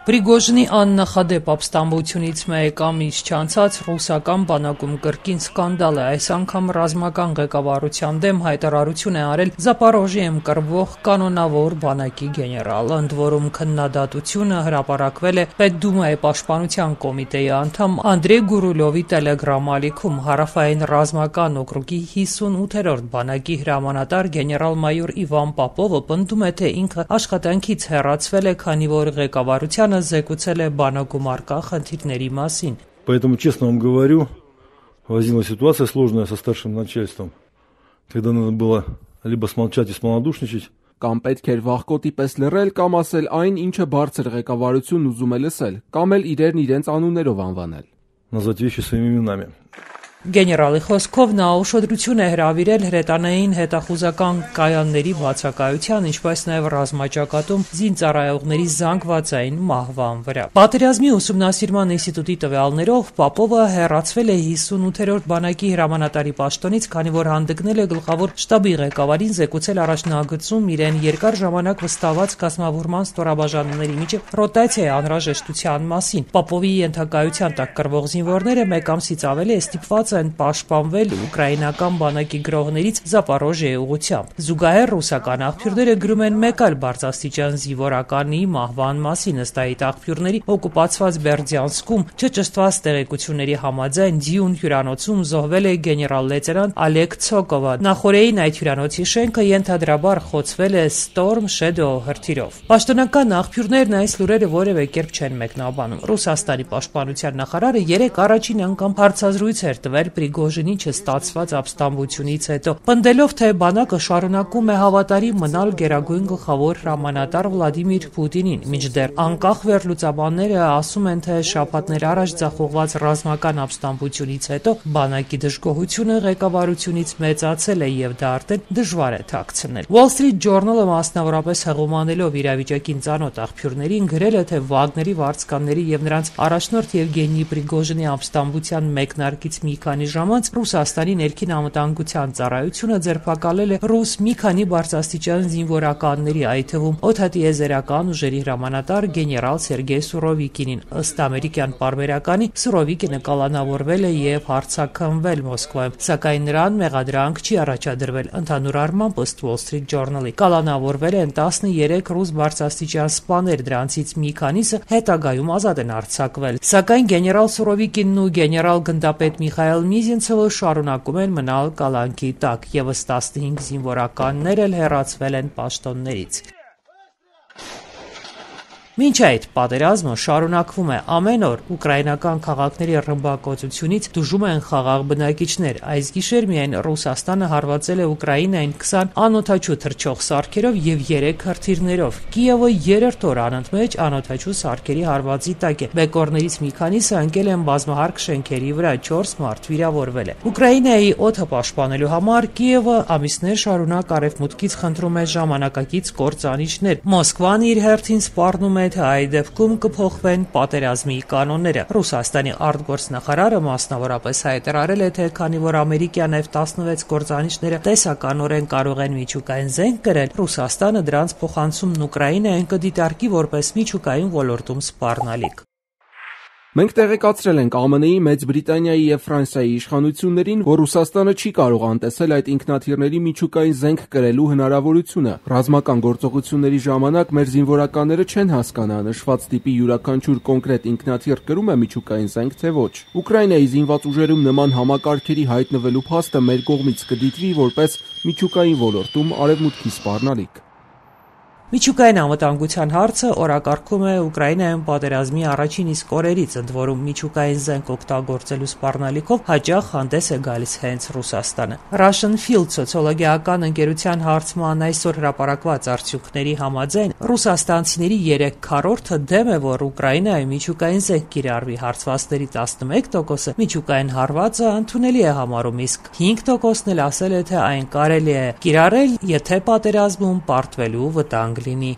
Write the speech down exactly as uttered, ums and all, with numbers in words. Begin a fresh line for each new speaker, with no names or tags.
Պրիգոժինի աննախադեպ ապստամբությունից մեկ ամիս չանցած ռուսական բանակում կրկին սկանդալ է։ Այս անգամ ռազմական ղեկավարության դեմ հայտարարություն է արել Զապորոժիեում կռվող կանոնավոր բանակի գեներալ։ Ընդ որում քննադատությունը հրապարակվել է Պետդումայի պաշտպանության կոմիտեի անդամ Անդրեյ Գուրուլովի տելեգրամ-ալիքում։ Հարավային ռազմական օկրուգի հիսունութերորդ բանակի հրամանատար գեներալ-մայոր Իվան Պապովը պնդում է, թե ինքը աշխատանքից հեռացվել է, քանի որ ղեկավարության զեկուցել է բանակում առկա խնդիրների մասին։
Поэтому, честно вам говорю, возникла ситуация сложная со старшим начальством, когда надо было либо смолчать и смолодушничать.
Կամ պետք էր վախկոտի պես լռել, կամ ասել այն, ինչը բարձր ղեկավարությունն ուզում է լսել, կամ էլ իրերն իրենց անուններով անվանել։
Назвать вещи своими именами.
Գեներալի խոսքով նա ուշադրություն է հրավիրել հրետանային հետախուզական կայանների բացակայության, ինչպես նաև ռազմաճակատում զինծառայողների զանգվածային մահվան վրա։ Պատերազմի ուսումնասիրման ինստիտուտի տվյալներով Պապովը հեռացվել է հիսունութերորդ բանակի հրամանատարի պաշտոնից, քանի որ հանդգնել է գլխավոր շտաբի ղեկավարին զեկուցել առաջնագծում իրեն երկար ժամանակ վստահված կազմավորման ստորաբաժանումների միջև ռոտացիայի անհրաժեշտության մասին։ Պապովի ենթակայության տակ կռվող զինվորները մեկ ամսից ավելի է ստիպված են պաշտպանվել ուկրաինական բանակի գրողներից Զապորոժիեի ուղղությամբ։ Զուգահեռ ռուսական աղբյուրները գրում են մեկ այլ բարձրաստիճան զինվորականի մահվան մասին։ Ըստ այդ աղբյուրների օկուպացված Բերդյանսկում չճշտված տեղեկությունների համաձայն Դյուն հյուրանոցում զոհվել է գեներալ-լեյտենանտ Ալեգ Ցոկովը։ Նախորդին այդ հյուրանոցի շենքը ենթադրաբար խոցվել է Storm Shadow հրթիռով։ Պաշտոնական աղբյուրներն այս լուրերը որևէ կերպ չեն մեկնաբանում։ Ռուսաստանի պաշտպանության նախարարը երեկ առաջին անգամ հարցազրույց էր տվել Պրիգոժինի չստացված ապստամբությունից հետո, պնդելով, թե բանակը շարունակում է հավատարիմ մնալ գերագույն գլխավոր հրամանատար Վլադիմիր Պուտինին, մինչդեռ անկախ վերլուծաբանները ասում են, թե շաբաթներ առաջ ձախողված ռազմական ապստամբությունից հետո բանակի դժգոհությունը ղեկավարությունից մեծացել է եւ դա արդեն դժվար է թաքցնել։ Wall Street Journal-ը մասնավորապես հեղումանելով իրավիճակին ծանոթ աղբյուրներին գրել է, թե Վագների վարձկանների եւ նրանց առաջնորդ Եվգենի Պրիգոժինի ապստամբության մեկնարկից մի քանի ժամ անց Ռուսաստանի ներքին անվտանգության ծառայությունը ձերբակալել է ռուս մի քանի բարձրաստիճան զինվորականների, այդ թվում օդատիեզերական ուժերի հրամանատար գեներալ Սերգեյ Սուրովիկինին։ Ըստ ամերիկյան պարբերականի Սուրովիկինը կալանավորվել է եւ հարձակվել Մոսկվայում, սակայն նրան մեղադրանք չի առաջադրվել։ Ընդհանուր առմամբ ըստ Wall Street Journal-ի կալանավորվել են տասներեք ռուս բարձրաստիճան սպաներ, դրանցից մի քանիսը հետագայում ազատ են արձակվել։ Սակայն գեներալ Սուրովիկինն ու գեներալ գնդապետ Միխայել Միզինցովը շարունակում են մնալ կալանքի տակ, եւս տասնհինգ զինվորականներ էլ հեռացվել են պաշտոններից։ Մինչ այդ պատերազմը շարունակվում է ամեն օր ուկրաինական քաղաքների ռմբակոծությունից դժում են խաղաղ բնակիչներ։ Այս գիշեր միայն Ռուսաստանը հարվածել է Ուկրաինային քսան անօդաչու թռչող սարքերով եւ երեք հրթիռներով։ Կիևը երրորդ օր անընդմեջ անօդաչու սարքերի հարվածի տակ է։ Բեկորներից մի քանիսը ընկել են բազմահարկ շենքերի վրա, չորս մարդ վիրավորվել է։ Ուկրաինայի օդը պաշտպանելու համար Կիևը ամիսներ շարունակ արևմուտքից խնդրում է ժամանակակից կործանիչներ։ Մոսկվան իր հերթին սպառնում է, թե այդ դեպքում կփոխվեն պատերազմի կանոնները։ Ռուսաստանի արտգործնախարարը մասնավորապես հայտարարել է, թե քանի որ ամերիկյան F տասնվեց կործանիչները տեսականորեն կարող են միջուկային զենք կրել, Ռուսաստանը դրանց փոխանցումն Ուկրաինային կդիտարկի որպես միջուկային ոլորտում սպառնալիք։
Մենք տեղեկացրել ենք A M N-ի, Մեծ Բրիտանիայի եւ Ֆրանսիայի իշխանություններին, որ Ռուսաստանը չի կարող անտեսել այդ ինքնաթիռների միջուկային զենք կրելու հնարավորությունը։ Ռազմական գործողությունների ժամանակ մեր զինվորականները չեն հասկանա նշված տիպի յուրաքանչյուր կոնկրետ ինքնաթիռ կրում է միջուկային զենք, թե ոչ։ Ուկրաինայի զինված ուժերում նման համակարգերի հայտնվելու փաստը մեր կողմից կդիտվի որպես միջուկային ոլորտում արևմուտքի սպառնալիք։
Միջուկային անվտանգության հարցը օրակարգում է Ուկրաինայում պատերազմի առաջին իսկ օրերից, ընդ որում միջուկային զենք օգտագործելու սպառնալիքով հաճախ հանդես է գալիս հենց Ռուսաստանը։ Russian Field սոցիոլոգիական ընկերության հարցման այսօր հրապարակված արդյունքների համաձայն ռուսաստանցիների երեք քառորդը դեմ է, որ Ուկրաինայում միջուկային զենք կիրառվի, հարցվածների տասնմեկ տոկոսը միջուկային հարվածը ընդունելի է համարում, իսկ հինգ տոկոսն էլ ասել է, թե այն կարելի է կիրառել, եթե պատերազմում պարտվելու վտանգ լինի։